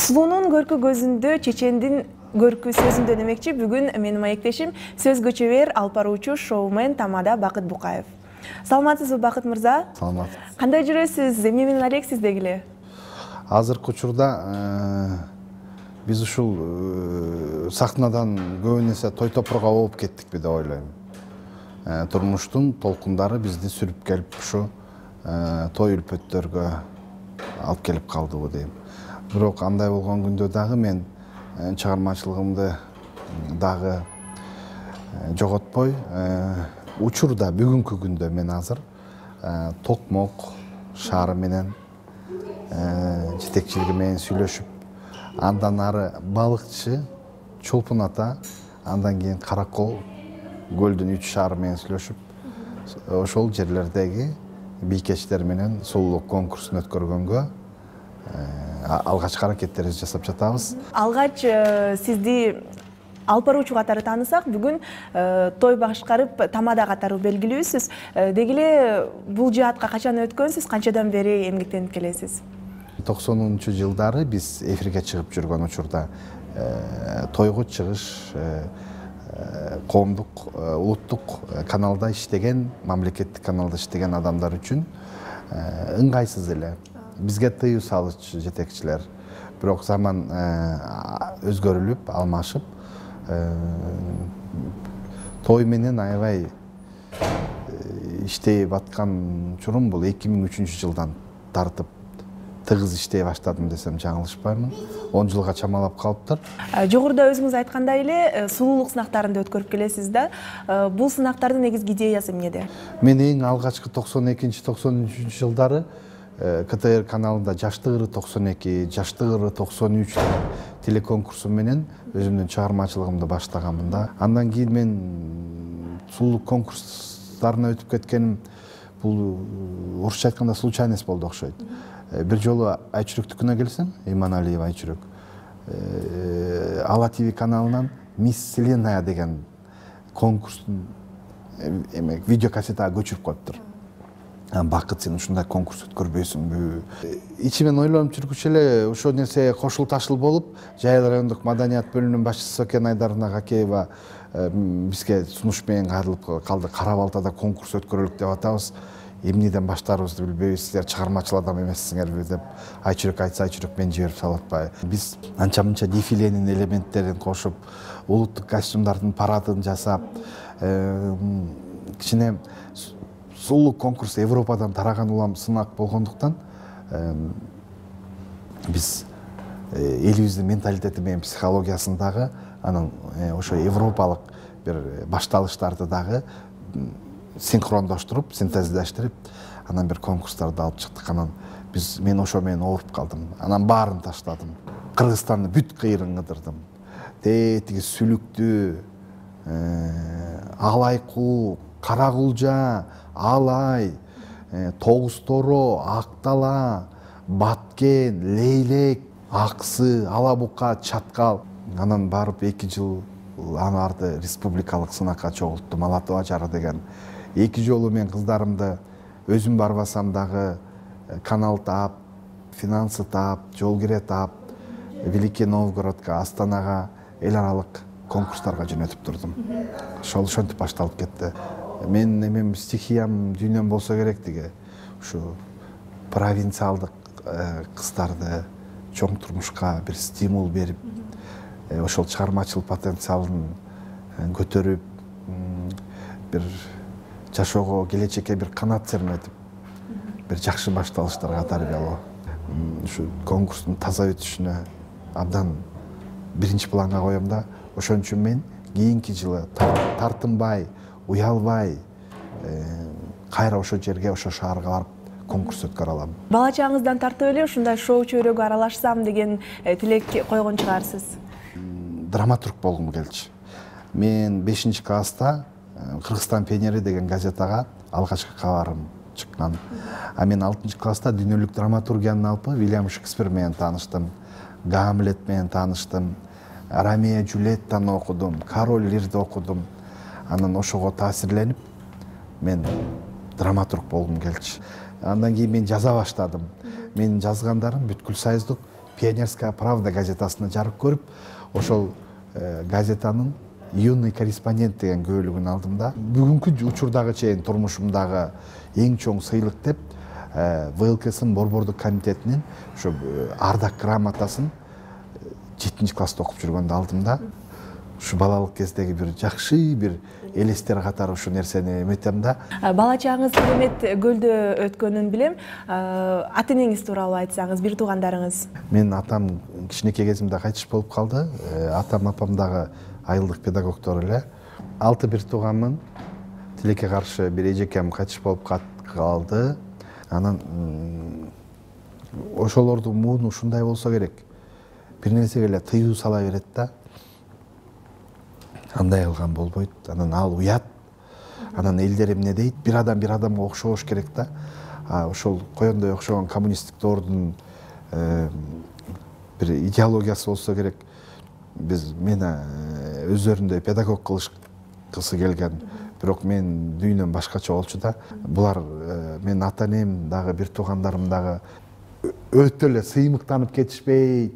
Сулуунун көркү көзүндө, чечендин көркү сөзүндө демекчи. Бүгүн менин маектешим сөз көчөбер алып баруучу шоумен тамада Бакыт Букаев. Саламатсызбы Бакыт мырза? Саламат. Кандай жүрөсүз? Эмне менен алексиз дегиле? Азыркы учурда биз ушул сахнадан көбүн эсе той топурга болуп кеттикпи деп ойлойм. Турмуштун толкундары бизди сүрүп келип ушу той үлпөттөргө алып келип калдыбы дейм. Бирок андай болгон күндө дагы мен чыгармачылыгымды дагы жоготпой, учурда бүгүнкү күндө мен азыр Токмок шаары менен жетекчилиги менен сүйлөшүп, андан ары балыкчы, Чолпун ата, андан кийин Каракол көлдүн 3 шаары менен сүйлөшүп, ошол жерлердеги бийкечтер менен сулуулук конкурсун өткөргөнгө алгачкы аракеттерибизди жасап жатабыз. Алгач сизди алып баруучу катары таанысак, бүгүн той башкарып тамада катары белгилүүсүз. Дегиле бул жаатка качан өткөнсүз, канчадан бери эмгектенип келесиз? 90-жылдары биз эфирге чыгып жүргөн учурда тойго чыгыш коомдук, улуттук каналда иштеген, мамлекеттик каналда иштеген адамдар үчүн ыңгайсыз эле. Бизге тыюу салычу жетекчилер. Бирок заман өзгөрүлүп, алмашып, той менен аябай иштей аткан учурум бул 2003-жылдан тартып тыгыз иштей баштадым десем жаңылышпаймын. 10 жылга чамалап калыптыр. Жогоруда өзүңүз айткандай эле сулуулук сынактарында өткөрүп келесиз да. Бул сынактардын негизги идеясы эмнеде? Мен эң алгачкы 92-93 жылдары КТР каналында Жаштыгыры 92, Жаштыгыры 93 телеконкурсу менен өзүмдүн чыгармачылыгымды баштаганмын да. Андан кийин мен сулуулук конкурстарына өтүп кеткеним бул орусча айтканда случайность болду окшойт. Бир жолу Айчүрөктүкүнө келсем, Иманалиева Айчүрөк, Ала ТВ каналынан Мисс Вселенная деген конкурстун видеокассетага көчүрүп коюптур. Бакыт, сен ушундай конкурс өткөрбөйсүңбү? Ичимен ойлонуп жүргүчө эле ошол нерсе кошул ташыл болуп, Жайыл райондук маданият бөлүмүнүн башчысы Сокен Айдарына Гакеева бизге сунуш менен кайрылып калды. Кара Балтада конкурс өткөрөлүк деп атабыз. Эмнеден баштаарыбызды билбейбиз, силер чыгармачыл адам эмессиңерби деп Айчүрөк айтса, Айчүрөк мен жиберип салып атпайбы. Биз анча-мынча дефиленин элементтерин кошуп, улуттук костюмдардын парадын жасап, кичине сулуулук конкурсу Европадан тараган улам сынак болгондуктан биз элибиздин менталитети менен психологиясын дагы, анан ошо европалык бир башталыштарды дагы синхрондоштуруп, синтездештирип, анан бир конкурстарды алып чыктык. Анан мен ошо менен ооруп калдым. Анан баарын таштадым. Кыргызстандын бүт кыйрын кыдырдым. Тетиги Сүлүктү, Алайку, Каракулжа, Алай, Тогуз-Торо, Актала, Баткен, Лейлек, Аксы, Алабука, Чаткал. Анан барып 2 жыл анарды республикалык сынакка чогулттум. Алатоо Ажары деген. 2 жолу мен кыздарымды өзүм барбасам дагы канал таап, финансы таап, жол кире таап, Великий Новгородко, Астанага эл аралык конкурстарга жөнөтүп турдум. Ошентип башталып кетти. Мен эмем стихиям, дүйнөм болсо керек деге. Ушу провинциалдык кыздарды чоң турмушка бир стимул берип, ошол чыгармачыл потенциалын көтөрүп, бир жашоого, келечекке бир канат серметип, бир жакшы башталыштарга тарбиялоо. Ушу конкурстун таза өтүшүнө абдан биринчи планга коем да, ошон үчүн мен кийинки жылы тартынбай, уялбай, кайра ошо жерге, ошо шаарга барып конкурс өткөрө алам. Бала чагыңыздан тартып эле ушундай шоу чөйрөгө аралашсам деген тилек койгон чыгарсыз. Драматург болгум келчү. Мен 5-класста Кыргызстан пионери деген газетага алгачкы кабарым чыккан. Мен 6-класста дүйнөлүк драматургиянын алпы Вильям Шекспир менен тааныштым, Гамлет менен тааныштым, Ромео Джульеттаны окудум, Король Лирди окудум. Анан ошого таасирленип, мен драматург болгум келчү. Андан кийин мен жаза баштадым. Менин жазгандарым бүткүл союздук Пионерская правда газетасына жарык көрүп, ошол газетанын юный корреспондент деген көөлүгүн алдым да. Бүгүнкү учурдагы чейин турмушумдагы эң чоң сыйлык деп ВЛКСынын борбордук комитетинин ошо ардак грамотасын 7-класста окуп жүргөндө алдым да. Ушу балалык кездеги бир жакшы бир элестер катары ушу нерсени эметем да. Бала чагыңыз керемет көлдө өткөнүн билем. Ата энеңиз тууралуу айтсаңыз, бир туугандарыңыз. Мен атам кичинекей кезимде кайтыш болуп калды. Атам апам дагы айылдык педагогдор эле. 6 бир тууганмын. Тилекке каршы бир эжекем кайтыш болуп калды. Анан ошолордун мууну ушундай болсо керек. Бир нерсеге эле тыюу сала берет да. Андай кылган болбойт. Анан ал уят. Анан элдер эмне дейт? Бир адамга окшош керек да. Ошол коёндой окшогон коммунисттик доордун бир идеологиясы болсо керек. Мени өздөрүндөй педагог кылышкысы келген. Бирок мен дүйнөм башкача болчу да. Булар менин ата энем дагы бир туугандарым дагы өтө эле сыймыктанып кетишпейт.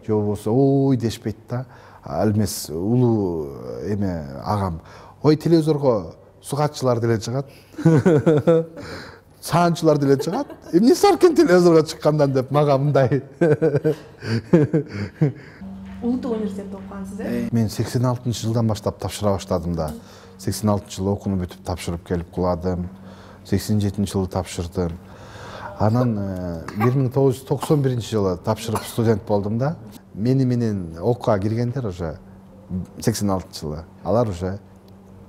Же болбосо ой дешпейт да. Ал эмес улуу агам. Ой, телевизорго сугатчылар деле чыгат. Саанчылар деле чыгат. Эмнеси бар экен телевизорго чыккандан деп мага мындай. Улуттук университетте окугансыз, Мен 86-жылдан баштап тапшыра баштадым да. 86-жылы окууну бүтүп тапшырып келип куладым. 87-жылы тапшырдым. Анан 1991-жылы тапшырып студент болдум да. Мени менен окууга киргендер уже 86-жылы. Алар уже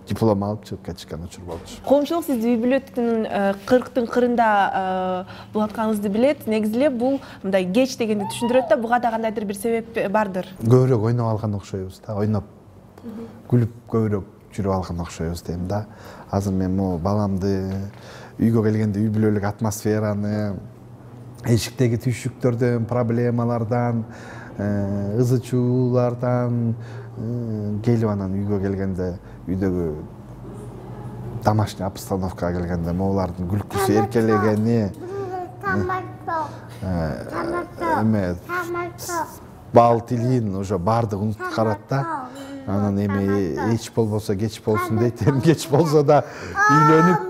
диплом алып чыгып кетишкен учур болчу. Коомчулук сизди үй бүлөтүн 40-тын кырында булатканыңызды билет. Негизи эле бул мындай кеч дегенди түшүндүрөт да, буга да кандайдыр бир себеп бардыр. Көбүрөөк ойноп алган окшойбуз да. Ойноп, күлүп көбүрөөк жүрүп алган окшойбуз дейм да. Азыр мен могу баламды үйгө келгенде үй бүлөлүк атмосфераны, эшиктеги түйшүктөрдөн, проблемалардан, ызы чуулардан келип анан үйгө келгенде үйдөгү домашний обстановкага келгенде моулардын күлкүсү эркелегени, бал тилин уже баардыгы унутуп калат да. Анан эч болбосо кеч болсун дейт, кеч болсо да үйлөнүп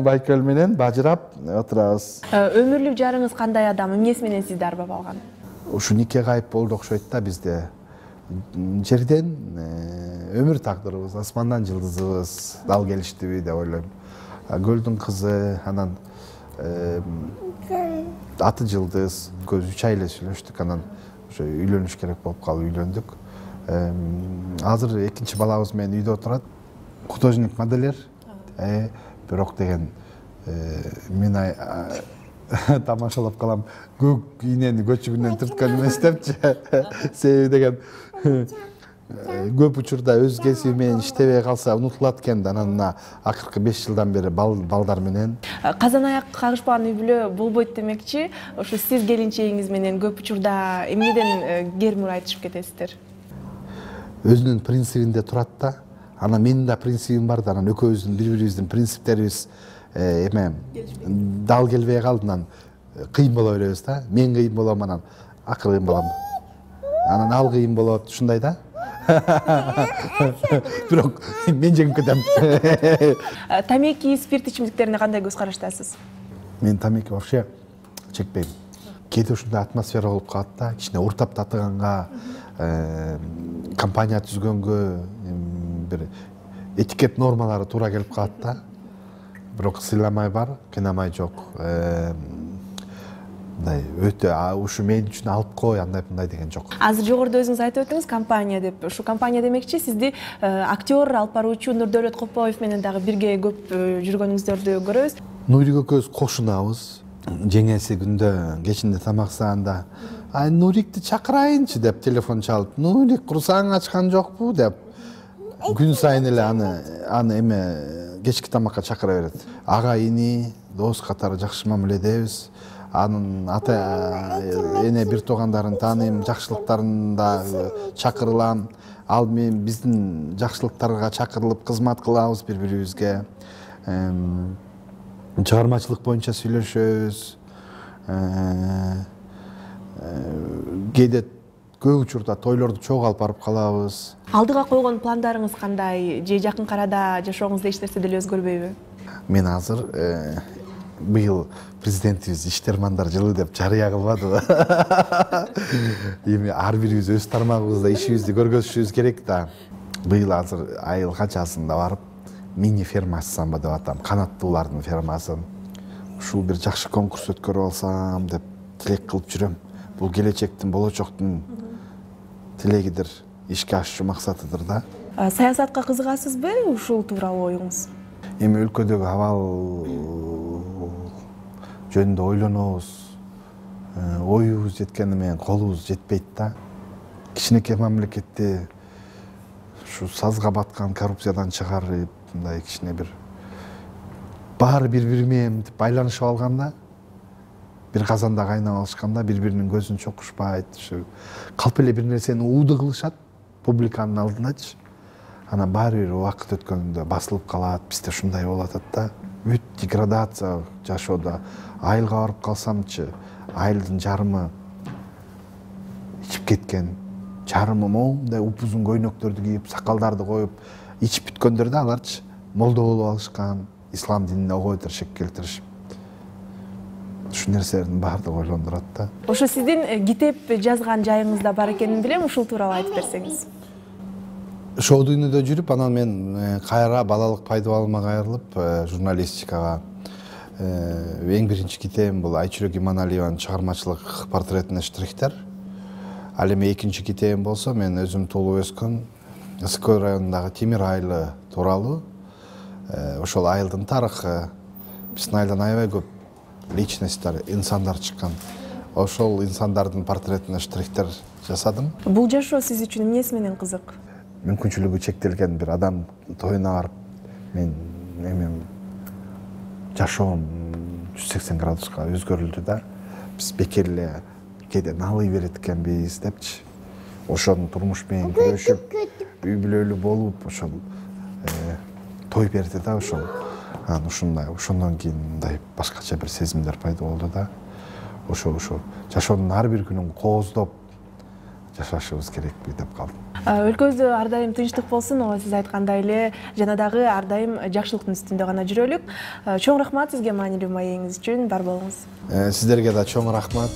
Байкөл менен бажырап отурабыз. Өмүрлүк жарыңыз кандай адам, эмнеси менен сизди арбап алган? Ушу нике кайып болду окшойт да бизде. Жерден өмүр тагдырыбыз, асмандан жылдызыбыз дал келиштиби деп ойлойм. Көлдүн кызы, анан аты Жылдыз, көз 3 ай эле сүйлөштүк, анан уже үйлөнүш керек болуп калып үйлөндүк. Азыр экинчи балабыз менен үйдө отурат. Художник модельер. Бирок деген мен тамашалап калам. Көк ийнени көчүгүнөн түрткөн эмес депчи. Себеби деген көп учурда өз кесиби менен иштебей калса унутулат экен да. Анан акыркы 5 жылдан бери балдар менен. Казан аяк кагышпаган үй бүлө болбойт демекчи. Ошо сиз келинчегиңиз менен көп учурда эмнеден кермур айтышып кетесиздер? Өзүнүн принцибинде турат да. Анан менин да принцибим бар да. Анан экөөбүздүн бири-бирибиздин принциптерибиз дал келбей калдынан кыйын боло беребиз да. Мен кыйын болом, анан акыры кыйын болом. Анан ал кыйын болот, ушундай да. Бирок мен жеңип кетем. Тамеки, спирт ичимдиктерине кандай көз караштасыз? Мен тамеки вообще чекпейм. Кээде ушундай атмосфера болуп калат да. Кичине уртап татыганга, компания түзгөнгө бир этикет нормалары туура келип калат да. Бирок сыйламай бар, кыйнамай жок. Мындай өтө ушу мен үчүн алып кой, андай деген жок. Азыр жогоруда өзүңүз айтып өттүңүз компания деп. Ушу компания демекчи сизди актер, алып баруучу Нурдөөлөт Копоев менен дагы бирге көп жүргөнүңүздөрдү көрөбүз. Нурик экөөбүз кошунабыз. Жеңеси күндө кечинде тамаксаанда Нурикти чакырайынчы деп телефон чалып, Нурик курсаң ачкан жокпу деп күн сайын эле аны кечки тамакка чакыра берет. Ага ини, дос катары жакшы мамиледебиз. Анын ата эне бир туугандарын тааныйм, жакшылыктарын да чакырылам. Ал мен биздин жакшылыктарга чакырылып кызмат кылабыз бири-бирибизге. Чыгармачылык боюнча сүйлөшөбүз. кээде көп учурда тойлорду чогуу алып барып калабыз. Алдыга койгон пландарыңыз кандай? Же жакын арада жашооңузда эч нерсе деле өзгөрбөйбү? Мен азыр быйыл президентибиз иштермандар жылы деп жарыя кылбадыбы? Эми ар бирибиз өз тармагыбызда ишибизди көргөзүшүбүз керек да. Быйыл азыр айыл качасында барып мини ферма ачсамбы деп атам, канаттуулардын фермасын. Ушул бир жакшы конкурс өткөрүп алсам деп тилек кылып жүрөм. Бул келечектин, болочоктун тилегидир, ишке ашуучу максатыдыр да. Саясатка кызыгасызбы? Ушул тууралуу оюңуз? Эми өлкөдөгү абал жөнүндө ойлонобуз. Оюбуз жеткени менен колубуз жетпейт да. Кичинекей мамлекетти ушу сазга баткан коррупциядан чыгарып, мындай кичине бир баары бири-бири менен байланышып алганда, бир казанда кайнап алышканда бири-биринин көзүн чокушпайт, ушу калп эле бир нерсени ууду кылышат публиканын алдындачы. Анан баары бир убакыт өткөндө басылып калат, бизде ушундай болуп атат да. Бүт деградация жашоодо. Айылга барып калсамчы, айылдын жарымы ичип кеткен, жарымы моундай упузун көйнөктөрдү кийип, сакалдарды коюп, ичип бүткөндөр да аларчы молдо болуп алышкан, ислам динине огойдор шек келтиришип. Ушул нерселердин баардыгы ойлондурат да. Ошо сиздин китеп жазган жайыңыз да бар экенин билем, ушул тууралуу айтып берсеңиз. Шоу дүйнөдө жүрүп, анан мен кайра балалык пайдубалыма кайрылып, журналистикага. Эң биринчи китебим бул Айчүрөк Иманалиеванын чыгармачылык портретине штрихтер. Ал эми экинчи китебим болсо, мен өзүм туулуп өскөн Ысыккөл районундагы Темир айылы тууралуу. Ошол айылдын тарыхы, биздин айылдан аябай көп личностьтер, инсандар чыккан. Ошол инсандардын портретине штрихтер жасадым. Бул жашоо сиз үчүн эмнеси менен кызык? Мүмкүнчүлүгү чектелген бир адам тоюна барып, мен жашоом 180 градуска өзгөрүлдү да. Биз бекер эле кээде налый берет экенбиз депчи. Ошонун турмуш менен күрөшүп, үй бүлөлүү болуп, ошол той берди да ошол. Анан ушундай, ошондон кийин мындай башкача бир сезимдер пайда болду да. Ошо жашоонун ар бир күнүн кооздоп жашашыбыз керекпи деп калдым. Өлкөбүздө ар дайым тынчтык болсун, ооба сиз айткандай эле жана дагы ар дайым жакшылыктын үстүндө гана жүрөлүк. Чоң рахмат сизге маанилүү маегиңиз үчүн, бар болуңуз. Сиздерге да чоң рахмат.